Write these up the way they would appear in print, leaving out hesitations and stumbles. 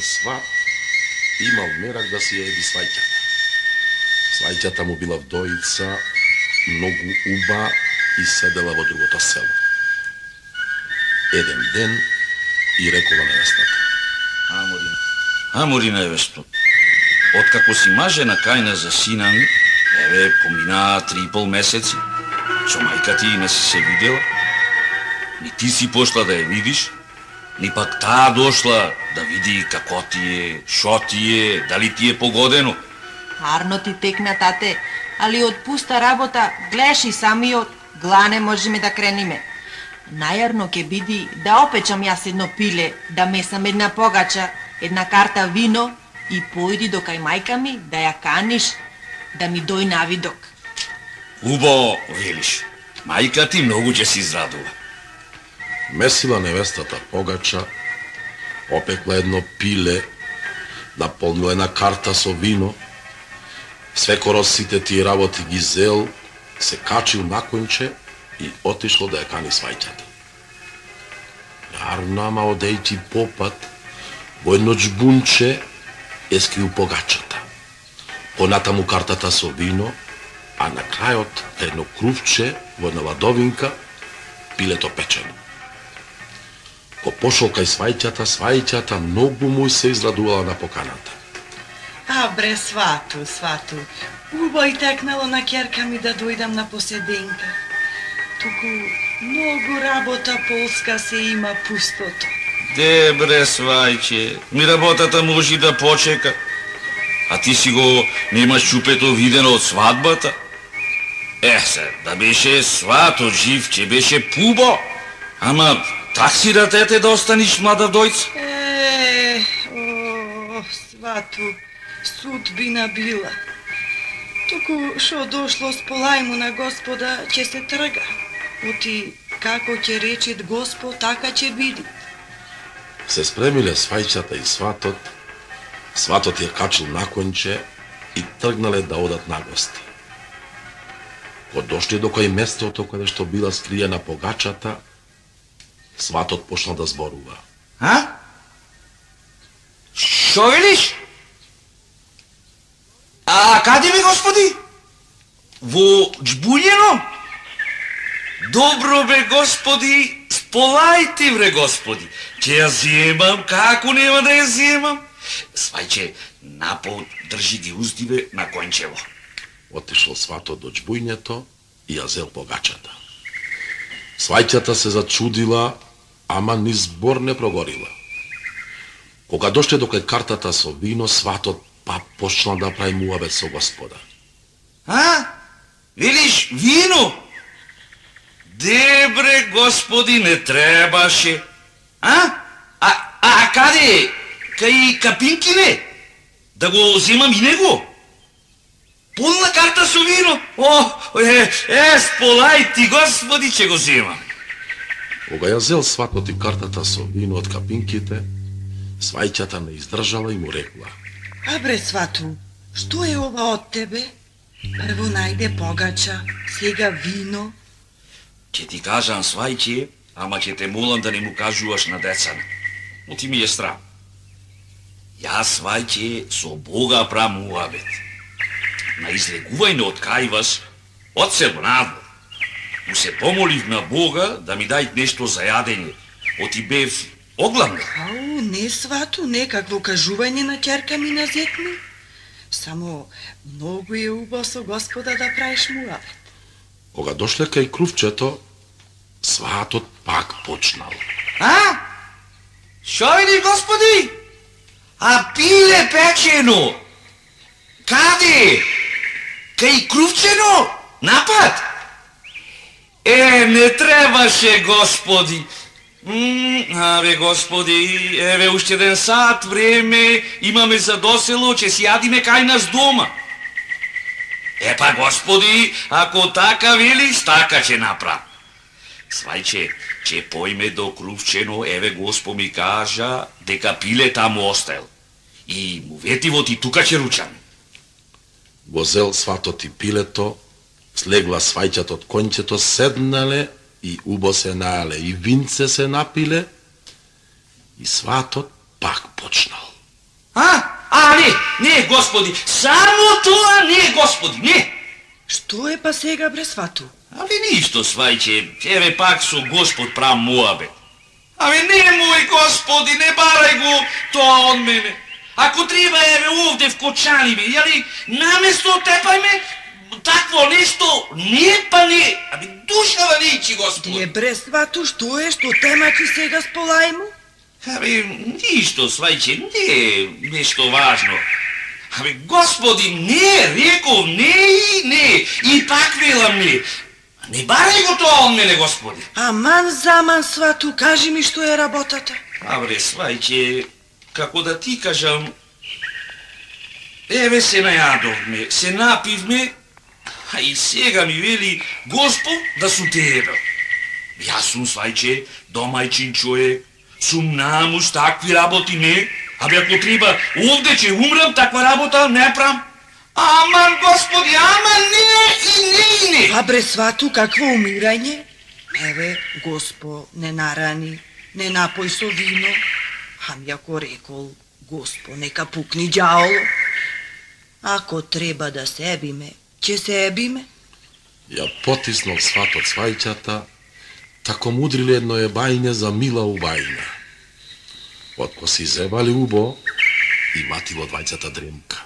еден сват имал мерак да си ја еди сваќата. Сваќата му била вдоица, многу уба и седела во другото село. Еден ден и рекола невестата: Амори невесто, откако си мажена кајна за сина ми, еве поминаа 3,5 месеци, со мајка ти не си се видела, ни ти си пошла да ја видиш, ни пак таа дошла да види како ти е, шо ти е, дали ти е погодено. Арно ти текна, тате, али од пуста работа, гледаш и самиот, глане можеме да крениме. Најарно ќе биди да опечам јас едно пиле, да месам една погача, една карта вино и појди до кај мајка ми да ја каниш, да ми дој навидок. Убаво велиш, мајка ти многу ќе се израдува. Месила невестата погача, опекла едно пиле, наполнила една карта со вино, свекоро сите тие работи ги зел, се качил на конче и отишло да ја кани сваќата. Јарно, ама одејќи попат, во едно џбунче е скрил погачата. Понатаму картата со вино, а на крајот едно крувче во една ладовинка, пилето печено. Ко пошол кај сваќата многу му се израдувала на поканата. А бре, свату, убаво и текнало на ќерка ми да дојдам на поседенка. Туку многу работа полска се има пустото. Де бре, свајче, ми работата може да почека. А ти си го немаш чупето видено од свадбата? Се, да беше свато жив, че беше пубо. Ама так си да тете да останиш млада дојца? Свату, судбина била. Туку шо дошло с полајму на Господа, ќе се трга. Оти како ќе речет Господ, така ќе биде. Се спремиле свајчата и сватот, сватот ја качил на конче и тргнале да одат на гости. Кога дошли до кој местото каде што била скриена погачата, сватот почнал да зборува. Шо велиш? А каде ми, Господи? Во џбуњено? Добро бе, Господи, сполајте, бре, Господи. Ќе ја земам, како нема да ја земам? Свајче, напол држи ги уздиве на кончево. Отишол сватот до џбуњето и ја зел погачата. Свајќата се зачудила, ама ни збор не прогорила. Кога дошле до кај картата со вино, сватот па почнал да прави муабет со Господа. Велиш вино? Дебре, Господи, не требаше. А каде? Кај капинкине? Да го земам и него? Полна карта со вино? Сполај ти, Господи, че го земам. Кога ја зел сватот и картата со вино од капинките, свајќата не издржала и му рекла: Бре, свату, што е ова од тебе? Прво најде погача, сега вино. Ќе ти кажам, свајче, ама ќе те молам да не му кажуваш на децана. Но ти ми е страм. Јас, свајче, со Бога правам муабет. На излегување од кајвас, од село надвор. Му се помолив на Бога да ми дај нешто за јадење. Оти бев огламна. Не, свату, некакво кажување на ќерка ми на зет ми. Само многу е убаво со Господа да правиш муабет. Кога дошле кај крувчето, сватот пак почнал. Шо види, Господи? А пиле печено? Каде? Кај крувчено? Напад? Не требаше, Господи. Абе, Господи, еве уште еден сат време имаме за досело, че си јадиме кај нас дома. Па, Господи, ако така велиш, така ќе направам. Свајче, че појме до крувчено, еве Господ ми кажа дека пиле таму остел. И му ветиво ти тука ќе ручаме. Го зел сватот и пилето, слегла свајќата од кончето, седнале и убо се најале и винце се напиле и сватот пак почнал. Не, Господи, само тоа не, Господи, не. Што е па сега бре свату? Ништо, свајче, еве пак со Господ прав муабет. Немој, Господи, не барај го тоа од мене. Ако треба, еве овде вкочани ме, наместо тепајме, такво нешто, не па не. Душава нечи, Господи. Не бре свату, што е, што темачи сега сполај му? Ништо, свајче, не, нешто важно. Господи, не, реков, не, и пак велам не. Не барај го тоа од мене, Господи. Аман заман, свату, кажи ми што е работата. Свајче, како да ти кажам, еве се најадовме, се напивме, и сега ми вели Господ да су тебе. Јас сум, свајче, домајчин човек, сум намуш, такви работи не. Ако треба, овде ќе умрам, таква работа не прам. Аман, Господи, аман, не. Бре свату, какво умирање? Еве, Госпо, не нарани, не напој со вино. Ако рекол, Госпо, нека пукни ѓаоло. Ако треба да се ебиме, ќе се ебиме. Ја потиснал сват од свајчата, тако мудриле едно ебајне за мила убајна. Отко си зебали убо, и мати во двајцата дремка.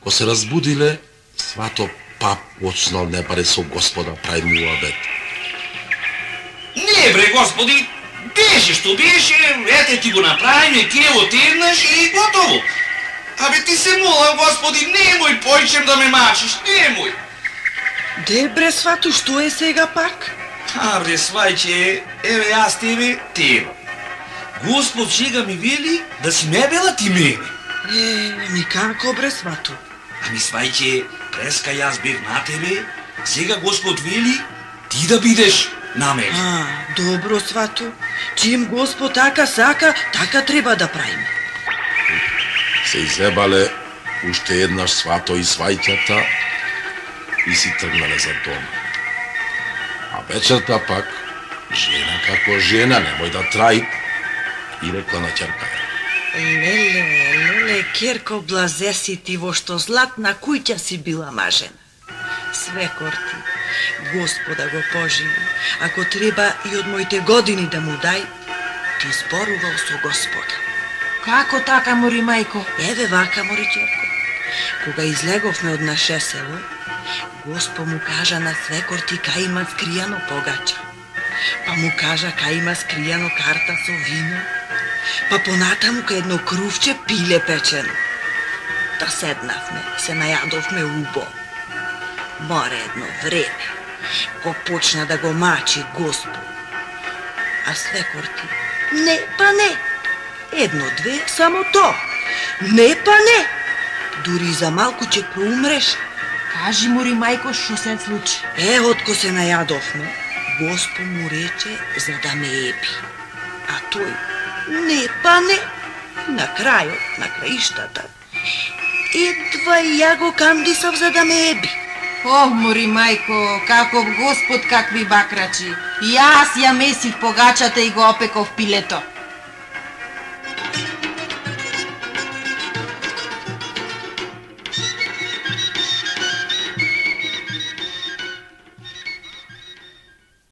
Ко се разбудиле, свато пап почнал не баре со Господа прави муабет. Не, бре, Господи, беше што беше, ете ти го направиме, ке отеднаш и готово. Ти се молам, Господи, немој појчем да ме мачиш, немој. Де, бре свату, што е сега пак? Бре, свајче, еве јас тебе. Господ сега ми вели да си ме бела ти мене. Никако, бре свату. Свајче, преска јас бев на тебе, сега Господ вели ти да бидеш на мене. Добро, свату. Чим Господ така сака, така треба да правиме. Се изебале уште еднаш свато и свајќата и си тргнале за дома. Вечерта пак, жена како жена, немој да траи, и рекла на ќерка. Леле, керко, блазе си ти, во што златна куќа си била мажена. Свекор ти, Господа го поживи, ако треба и од моите години да му дај, ти зборувал со Господа. Како така, мори мајко? Еве вака, мори ќерко. Кога излеговме од наше село, Господ му кажа на свекор ти кај има скријано погача. Па му кажа кај има скријано карта со вино. Па понатаму кај едно крувче пиле печено. Та седнавме, се најадовме убо. Море едно време, го почна да го мачи Господ. А свекор ти, не, па не. Едно-две, само то. Не, па не. Дури за малку ќе проумреш. Кажи, мори мајко, што се случи? Отко се најадовме, Господ му рече за да ме еби. А тој, не, па не. На крајот, на краиштата, едва ја го кандисав за да ме еби. Мори мајко, каков Господ, какви бакрачи. Јас ја месих погачата и го опеков пилето.